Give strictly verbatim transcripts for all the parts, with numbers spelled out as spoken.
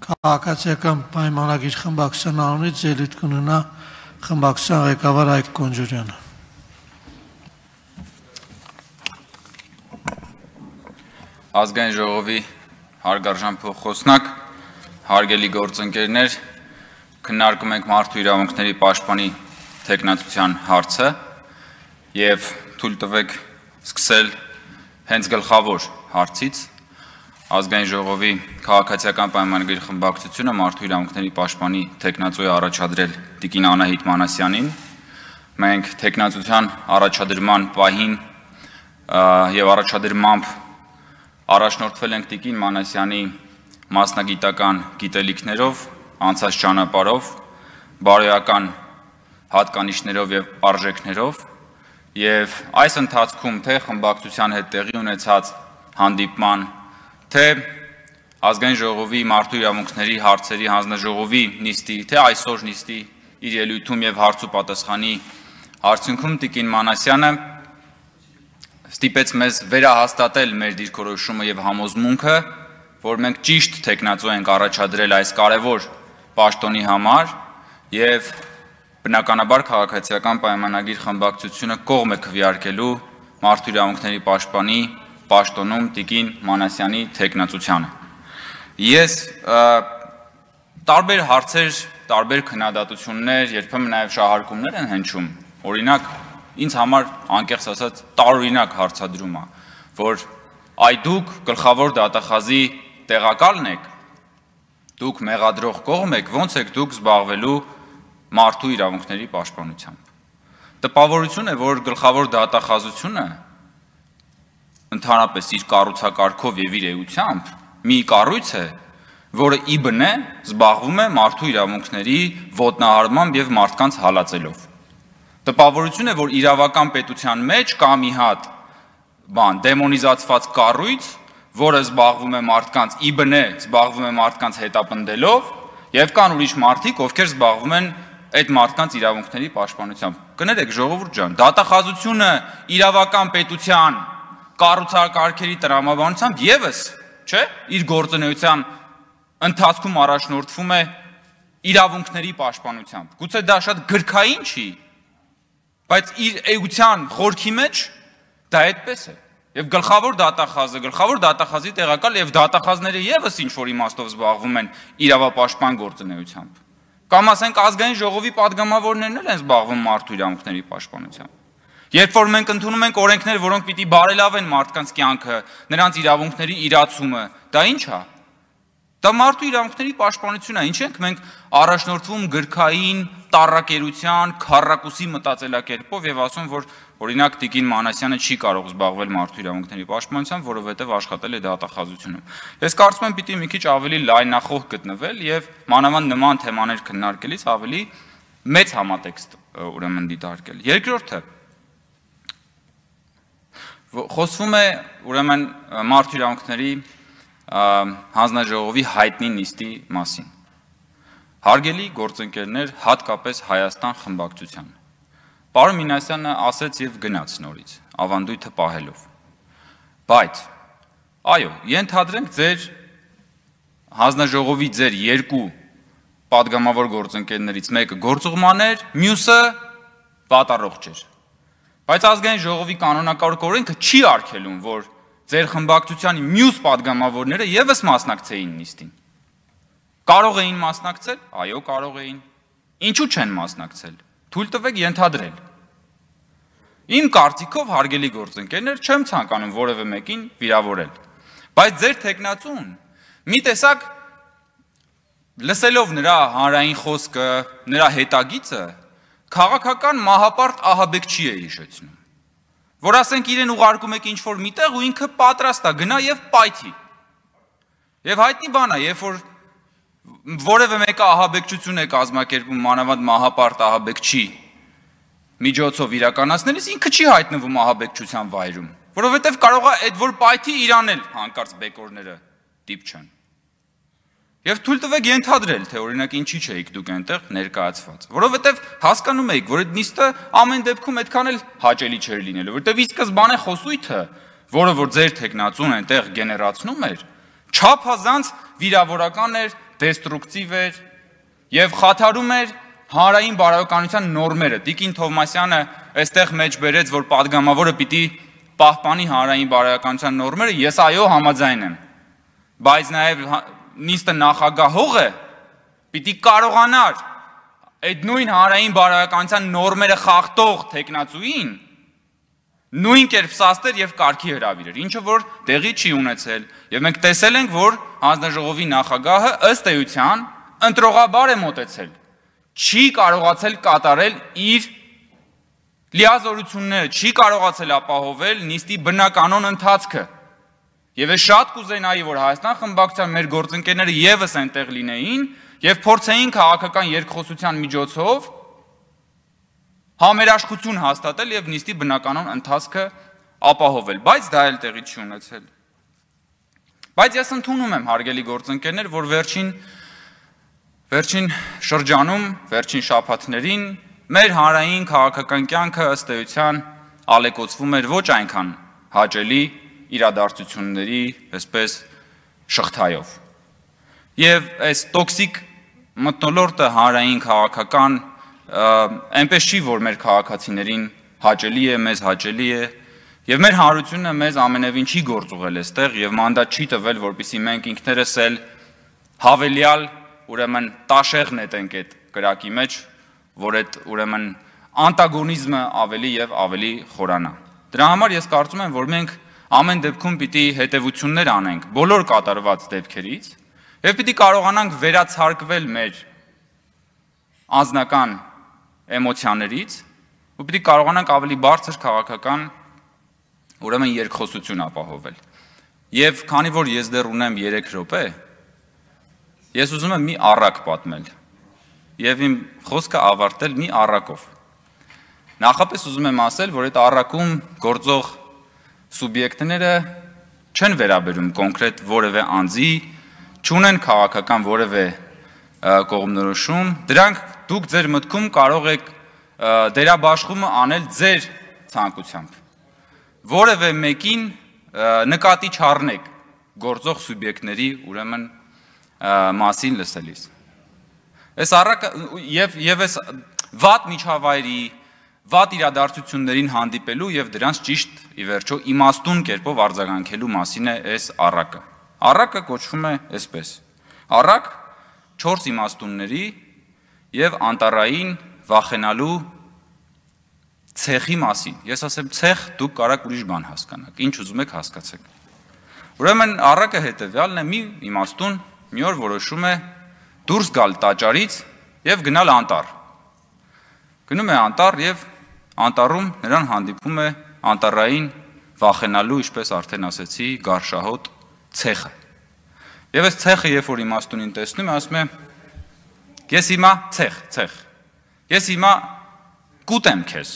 Քաղաքացիական պայմանագիր խմբակցության անունից ելույթ կունենա խմբակցության ղեկավար Հայկ Կոնջորյանը։ Ազգային ժողովի հարգարժան փոխխոսնակ, հարգելի գործընկերներ, քննարկում ենք մարդու իրավունքների պաշտպանի թեկնածության հարցը եւ թույլ տվեք սկսել հենց գլխավոր հարցից։ Ազգային ժողովի քաղաքացիական պայմանագրի խմբակցությունը մարդու իրավունքների պաշտպանի թեկնածու է առաջադրել Տիկին Անահիտ Մանասյանին։ Մենք թեկնածության առաջադրման պահին եւ առաջադրմամբ առաջնորդվել ենք Տիկին Մանասյանի մասնագիտական գիտելիքներով, անցած ճանապարհով, բարոյական հատկանիշներով եւ արժեքներով եւ այս ընթացքում թե խմբակցության հետ տեղի ունեցած հանդիպման, թե ազգային ժողովի մարդու իրավունքների հարցերի հանձնաժողովի նիստի, թե այսօր նիստի իր ելույթում եւ հարց ու պատասխանի արդյունքում Տիկին Մանասյանը ստիպեց մեզ վերահաստատել մեր դիրքորոշումը եւ համոզմունքը, որ մենք ճիշտ թեկնածու ենք առաջադրել այս կարևոր պաշտոնի համար եւ բնականաբար քաղաքացիական պայմանագիր խմբակցությունը կողմ է քվեարկելու մարդու իրավունքների պաշտպանի պաշտոնում Տիկին Մանասյանի թեկնածությանը։ Ես տարբեր հարցեր, տարբեր քննադատություններ, երբեմն նաեւ շահարկումներ են հնչում։ Օրինակ, ինձ համար անկեղծ ասած տարօրինակ հարցադրում է, որ այ դուք գլխավոր դատախազի տեղակալն եք, դուք մեղադրող կողմ եք, ո՞նց եք դուք զբաղվելու մարդու իրավունքների պաշտպանությամբ։ Տպավորություն է, որ գլխավոր դատախազությունը ընդհանրապես իր կառուցակարգով եւ իր էությամբ մի կառույց է, որը ի բնե զբաղվում է մարդու իրավունքների ոտնահարմամբ եւ մարդկանց հալածելով։ Տպավորություն է, որ իրավական պետության մեջ կա մի հատ բան դեմոնիզացված կառույց, որը զբաղվում է մարդկանց ի բնե զբաղվում է մարդկանց հետապնդելով եւ կան ուրիշ մարդիկ, ովքեր զբաղվում են այդ մարդկանց իրավունքների պաշտպանությամբ։ Կներեք ժողովուրդ ջան, դատախազությունը իրավական պետության կառուցակարգերի տրամաբանությամբ եւս, չէ, իր գործունեության ընթացքում առաջնորդվում է իրավունքների պաշտպանությամբ։ Գուցե դա շատ գրքային չի, բայց իր էության խորքի մեջ դա այդպես է։ Եվ գլխավոր դատախազը, գլխավոր դատախազի տեղակալ եւ դատախազները եւս ինչ որ իմաստով զբաղվում են իրավապաշտպան գործունեությամբ։ Կամ ասենք ազգային ժողովի падգամավորներն էլ են զբաղվում մարդու իրավունքների պաշտպանությամբ։ Երբ որ մենք ընդունում ենք օրենքներ, որոնք պիտի բարելավեն մարդկանց կյանքը, նրանց իրավունքների իրացումը, դա ի՞նչ է։ Դա մարդու իրավունքների պաշտպանություն է, ինչ ենք մենք առաջնորդվում գրքային տառակերության, քառակուսի մտածելակերպով եւ ասում, որ օրինակ Տիկին Մանասյանը չի կարող զբաղվել մարդու իրավունքների պաշտպանությամբ, որովհետեւ աշխատել է դատախազությունում։ Ես կարծում եմ պիտի մի քիչ ավելի լայնախոհ գտնվել եւ մանավանդ նման թեմաներ քննարկելիս ավելի մեծ համատեքստ ուրեմն դիտարկել։ Երկրորդը խոսվում է ուրեմն մարդու իրավունքների հանձնաժողովի հայտնի նիստի մասին։ Հարգելի գործընկերներ, հատկապես Հայաստան խմբակցության։ Պարոն Մինասյանը ասեց եւ գնաց նորից, ավանդույթը պահելով։ Բայց այո, ենթադրենք ձեր հանձնաժողովի ձեր երկու падգամավոր գործընկերներից մեկը գործուղման էր, մյուսը պատառող չէր։ Բայց ազգային ժողովի կանոնակարգ օրենքը չի արգելում, որ ձեր խմբակցության մյուս падգամավորները եւս մասնակցեին նիստին։ Կարող էին մասնակցել, այո, կարող էին։ Ինչու չեն մասնակցել։ Թույլ տվեք ենթադրել։ Իմ կարծիքով, հարգելի գործընկերներ, չեմ ցանկանում որևէ մեկին վիրավորել։ Բայց ձեր թեկնածուն մի տեսակ լսելով նրա հանրային խոսքը, նրա հետագիծը քաղաքական մահապարտ ահաբեկչի է հիշեցնում, որ ասենք իրեն ուղարկում եք ինչ-որ միտեղ ու ինքը պատրաստ է գնա եւ պայթի։ Եվ հայտնի բան է, երբ որ որևէ մեկը ահաբեկչություն է կազմակերպում մանավանդ մահապարտ ահաբեկչի միջոցով իրականացնելիս, ինքը չի հայտնվում ահաբեկչության վայրում, որովհետեւ կարող է այդ որ պայթի իրան էլ հանկարծ բեկորները դիպչեն։ Եվ թույլ տվեք ենթադրել, թե օրինակ ինչի չէիք դուք այնտեղ ներկայացված, որովհետև հասկանում եք, որ այդ նիստը ամեն դեպքում այդքան էլ հաճելի չէր լինելու, որովհետև ի սկզբանե խոսույթը, որը որ ձեր թեկնածուն այնտեղ գեներացնում էր, չափազանց վիրավորական էր դեստրուկտիվ էր եւ խաթարում էր հանրային բարոյականության նորմերը։ Տիկին Թովմասյանը այստեղ մեջ բերեց, որ падգամավորը պիտի պահպանի հանրային բարոյականության նորմերը, ես այո համաձայն եմ։ Բայց նաեւ նիստը նախագահողը պիտի կարողանար այդ նույն հանրային բարոյականության նորմերը խախտող տեխնացուին նույն կերպ սաստեր եւ կարգի հրավիրեր, ինչը որ տեղի չի ունեցել, եւ մենք տեսել ենք, որ հանձնաժողովի նախագահը ըստ էության ընտրողաբար է մոտեցել, չի կարողացել կատարել իր լիազորությունները, չի կարողացել ապահովել նիստի բնականոն ընթացքը։ Եվ ես շատ կուզենայի, որ Հայաստան խմբակցության մեր գործընկերները եւս այնտեղ լինեին եւ փորձեին քաղաքական երկխոսության միջոցով համերաշխություն հաստատել եւ նիստի բնականոն ընթացքը ապահովել, բայց դա էլ տեղի չի ունեցել։ Բայց ես ընդունում եմ, հարգելի գործընկերներ, որ վերջին վերջին շրջանում, վերջին շաբաթներին մեր հանրային քաղաքական կյանքը ըստ էության ալեկոծվում էր ոչ այնքան հաճելի իրադարձությունների, այսպես շղթայով։ Եվ այս տոքսիկ մթնոլորտը հանրային քաղաքական այնպես չի, որ մեր քաղաքացիներին հաճելի է, մեզ հաճելի է, եւ մեր հանրությունը մեզ ամենևին չի գործուղել այստեղ եւ մանդատ չի տվել, որպեսզի մենք ինքներս էլ հավելյալ, ուրեմն տաշեղ նետենք այդ կրակի մեջ, որ այդ ուրեմն անտագոնիզմը ավելի եւ ավելի խորանա։ Դրա համար ես կարծում եմ, որ մենք ամեն դեպքում պիտի հետևություններ անենք բոլոր կատարված դեպքերից եւ պիտի կարողանանք վերացարկվել մեր անձնական էմոցիաներից ու պիտի կարողանանք ավելի բարձր քաղաքական ուրեմն երկխոսություն ապահովել։ Եվ քանի որ ես դեռ ունեմ երեք րոպե, ես ուզում եմ մի առակ պատմել եւ իմ խոսքը ավարտել մի առակով։ Նախապես ուզում եմ ասել, որ այդ առակում գործող սուբյեկտները չեն վերաբերում կոնկրետ որևէ անձի, չունեն քաղաքական որևէ կողմնորոշում, դրանք դուք ձեր մտքում կարող եք դերաբաշխումը անել ձեր ցանկությամբ։ Որևէ մեկին նկատի չառնեք գործող սուբյեկտների ուրեմն մասին լսելիս։ Այս առակը եւ եւ այս վատ միջավայրի, վատ իրադարձություններին հանդիպելու եւ դրանց ճիշտ ի վերջո իմաստուն կերպով արձագանքելու մասին է այս առակը։ Առակը կոչվում է այսպես. առակ չորս իմաստունների եւ անտառային վախենալու ցեխի մասին։ Ես ասեմ ցեխ, դուք կարաք ուրիշ բան հասկանաք, ինչ ուզում եք հասկացեք։ Ուրեմն առակը հետեւյալն է՝ մի իմաստուն մի օր որոշում է դուրս գալ տաճարից եւ գնալ անտառ։ Գնում է անտառ եւ անտառում նրան հանդիպում է անտառային վախենալու, ինչպես արդեն ասեցի, գարշահոտ ցեխը։ Եվ այս ցեխը, երբ որ իմաստունին տեսնում է, ասում է. «Ես հիմա ցեխ, ցեխ։ Ես հիմա կուտեմ քեզ»,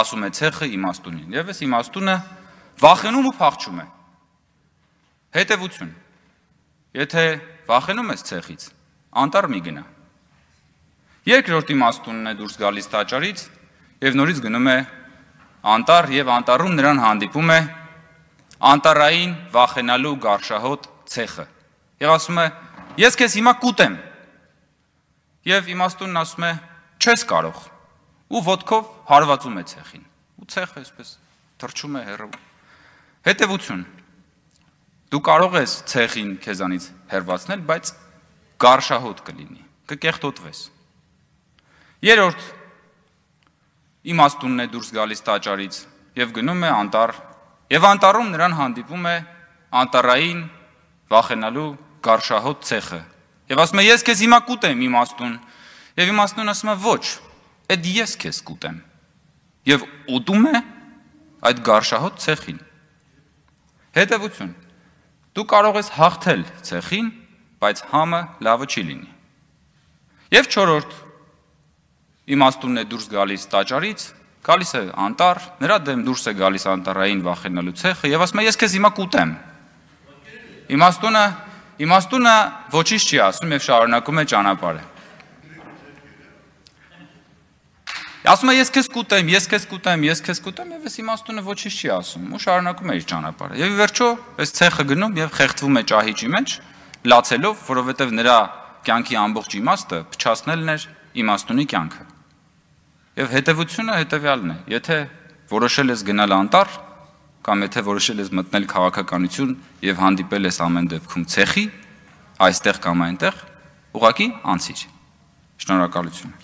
ասում է ցեխը իմաստունին։ Եվ այս իմաստունը վախենում ու փախչում է։ Հետևություն. Եթե վախենում ես ցեխից, անտառ մի գնա։ Երկրորդ իմաստունն է դուրս գալիս տաճարից եւ նորից գնում է անտառ եւ անտառում նրան հանդիպում է անտառային վախենալու գարշահոտ ցեխը։ Եվ ասում է. «Ես քեզ հիմա կուտեմ»։ Եվ իմաստունն ասում է. «Չես կարող»։ Ու ոտքով հարվածում է ցեխին։ Ու ցեխը այսպես թռչում է հեռու։ Հետևություն. դու կարող ես ցեխին քեզանից հեռացնել, բայց գարշահոտ կլինի, կկեղտոտվես։ Երրորդ իմաստունն է դուրս գալիս տաճարից եւ գնում է անտառ, եւ անտառում նրան հանդիպում է անտառային վախենալու գարշահոտ ցեխը։ Եվ ասում է. «Ես քեզ հիմա կուտեմ, իմաստուն»։ Եվ իմաստուն ասում է. «Ոչ, այդ ես քեզ կուտեմ»։ Եվ ուտում է այդ գարշահոտ ցեխին։ Հետևություն. դու կարող ես հաղթել ցեխին, բայց համը լավը չի լինի։ Եվ չորրորդ իմաստունն է դուրս գալիս տաճարից, գալիս է անտառ, նրա դեմ դուրս է գալիս անտառային վախենալու ցեխը եւ ասում է. «Ես քեզ հիմա կուտեմ»։ Իմաստունը իմաստունը ոչինչ չի ասում եւ շարունակում է ճանապարհը։ Ասում է. «Ես քեզ կուտեմ, ես քեզ կուտեմ, ես քեզ կուտեմ» եւ այս իմաստունը ոչինչ չի ասում ու շարունակում է իր ճանապարհը։ Եվ ի վերջո այս ցեխը գնում եւ խեղդվում է ճահիճի մեջ լացելով, որովհետև նրա կյանքի ամբողջ իմաստը փչացնելն էր իմաստունի կյանքը։ Եվ հետևությունը հետևյալն է. եթե որոշել ես գնալ անտառ, կամ եթե որոշել ես մտնել քաղաքականություն եւ հանդիպել ես ամեն դեպքում ցեխի, այստեղ կամ այնտեղ, ուղղակի անցիր։ Շնորհակալություն։